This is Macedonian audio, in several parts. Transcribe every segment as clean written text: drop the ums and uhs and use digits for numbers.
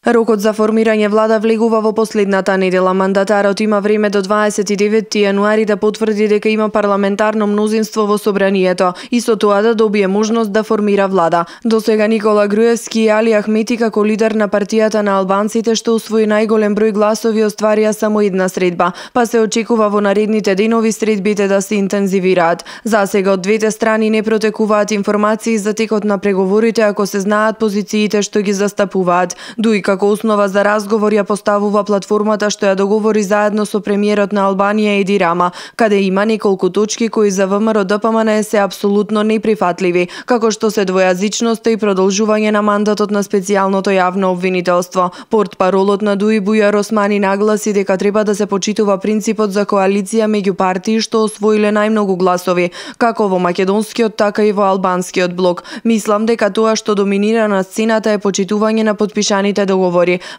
Рокот за формирање влада влегува во последната недела. Мандатарот има време до 29 јануари да потврди дека има парламентарно мнозинство во собранието и со тоа да добие можност да формира влада. До сега Никола Груевски и Али Ахмети како лидер на партијата на албанците што освои најголем број гласови остварија само една средба, па се очекува во наредните денови средбите да се интензивираат. За сега од двете страни не протекуваат информации за текот на преговорите ако се знаат позициите што ги застапуваат. Дуи како основа за разговор ја поставува платформата што ја договори заедно со премиерот на Албанија Еди Рама, каде има неколку точки кои за ВМРО-ДПМН се апсолутно неприфатливи, како што се двојазичноста и продолжување на мандатот на специјалното јавно обвинителство. Портпаролот на ДУИ Бујар Османи нагласи дека треба да се почитува принципот за коалиција меѓу партии што освоиле најмногу гласови, како во македонскиот така и во албанскиот блок. Мислам дека тоа што доминира на сцената е почитување на подпишаните договори.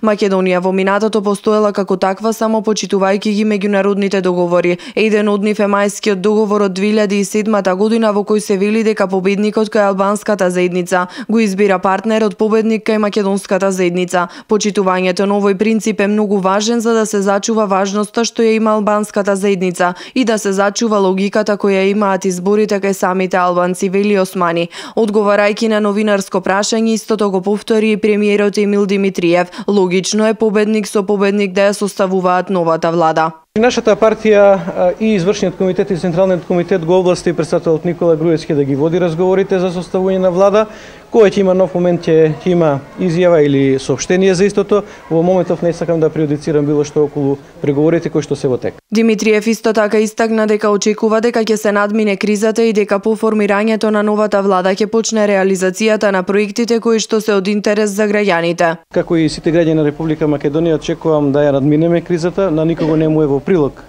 Македонија во минатото постоела како таква само почитувајќи ги меѓународните договори. Еден од нив е мајскиот договор од 2007 година во кој се вели дека победникот кај албанската заедница го избира партнерот победник кај македонската заедница. Почитувањето на овој принцип е многу важен за да се зачува важноста што ја има албанската заедница и да се зачува логиката која имаат изборите кај самите албанци, вели Османи. Одговарајќи на новинарско прашање, истото го повтори и премиерот Емил Димитриев. Логично е победник со победник да ја составуваат новата влада. Нашата партија и извршниот комитет и централниот комитет го овласти претседателот Никола Груевски да ги води разговорите за составување на влада. Кој ќе има нов момент ќе има изјава или соопштение за истото. Во моментов не сакам да прејудицирам било што околу преговорите кои што се во тек. Димитриев исто така истакна дека очекува дека ќе се надмине кризата и дека по формирањето на новата влада ќе почне реализацијата на проектите кои што се од интерес за граѓаните. Како и сите граѓани на Република Македонија очекувам да ја надминеме кризата, на никого не му е во прилог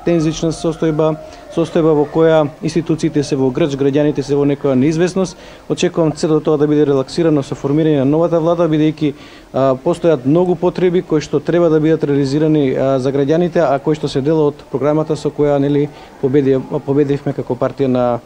тензична состојба во која институциите се во грч, граѓаните се во некоја неизвестност. Очекувам целото тоа да биде релаксирано со формирање на новата влада, бидејќи постојат многу потреби кои што треба да бидат реализирани за граѓаните, а кои што се дел од програмата со која победивме како партија на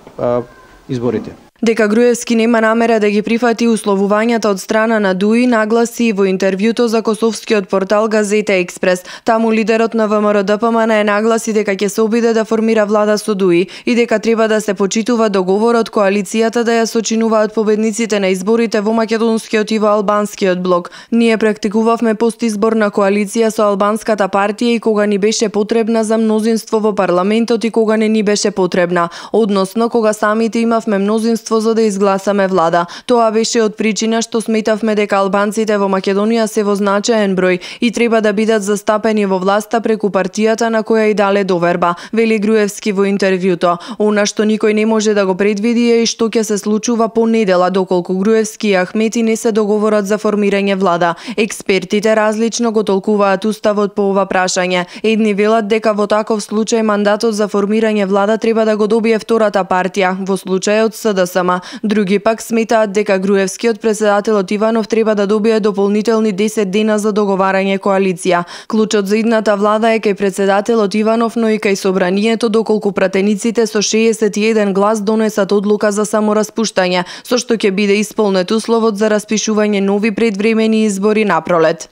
изборите. Дека Груевски нема намера да ги прифати условувањата од страна на ДУИ, нагласи и во интервјуто за косовскиот портал Газета Експрес. Таму лидерот на ВМРО-ДПМН нагласи дека ќе се обиде да формира влада со ДУИ и дека треба да се почитува договорот коалицијата да ја сочинуваат победниците на изборите во македонскиот и во албанскиот блок. Ние практикувавме постизборна коалиција со албанската партија и кога ни беше потребна за мнозинство во парламентот и кога не ни беше потребна, односно кога самите имавме мнозинство за да изгласаме влада. Тоа беше од причина што сметавме дека албанците во Македонија се во значаен број и треба да бидат застапени во власта преку партијата на која и дале доверба, вели Груевски во интервјуто. Она што никој не може да го предвиди е и што ќе се случува по недела доколку Груевски и Ахмети не се договорат за формирање влада. Експертите различно го толкуваат уставот по ова прашање. Едни велат дека во таков случај мандатот за формирање влада треба да го добие втората партија, во случајот СДСМ. Други пак сметаат дека Груевскиот претседателот Иванов треба да добие дополнителни 10 дена за договарање коалиција. Клучот за идната влада е кај претседателот Иванов, но и кај собранието доколку пратениците со 61 глас донесат одлука за самораспуштање, со што ќе биде исполнет условот за распишување нови предвремени избори напролет.